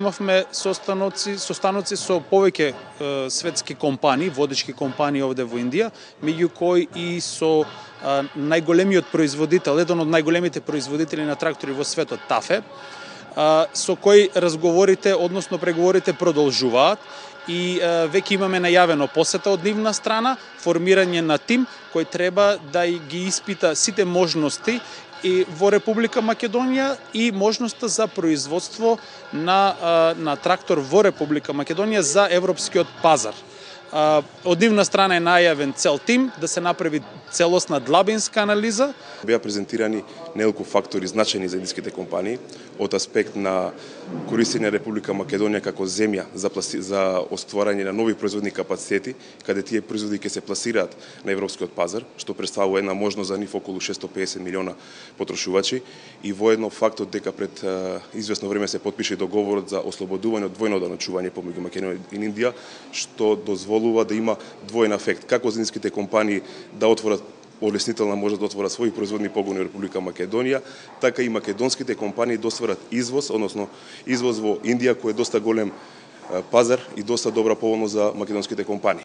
Имавме состаноци со повеќе светски компании, водечки компании овде во Индија, меѓу кои и со најголемиот производител, еден од најголемите производители на трактори во светот, ТАФЕ, со кој разговорите, односно преговорите продолжуваат и веќе имаме најавено посета од нивна страна, формирање на тим кој треба да ги испита сите можности и во Република Македонија и можноста за производство на трактор во Република Македонија за европскиот пазар. Од нивна страна е најавен цел тим да се направи целосна длабинска анализа. Беа презентирани неколку фактори значајни за индиските компании од аспект на користење на Република Македонија како земја за остварање на нови производни капацитети, каде тие производи ќе се пласираат на европскиот пазар, што представува една можност за нив околу 650 милиона потрошувачи, и воедно фактот дека пред извесно време се потпише договорот за ослободување од двојно даночување помеѓу Македонија и Индија, што дозволува да има двоен ефект, како за индиските компании да отворат олеснителна може да отворат своји производни погони во Република Македонија, така и македонските компании да остварат извоз, односно извоз во Индија, кој е доста голем пазар и доста добра поволност за македонските компании.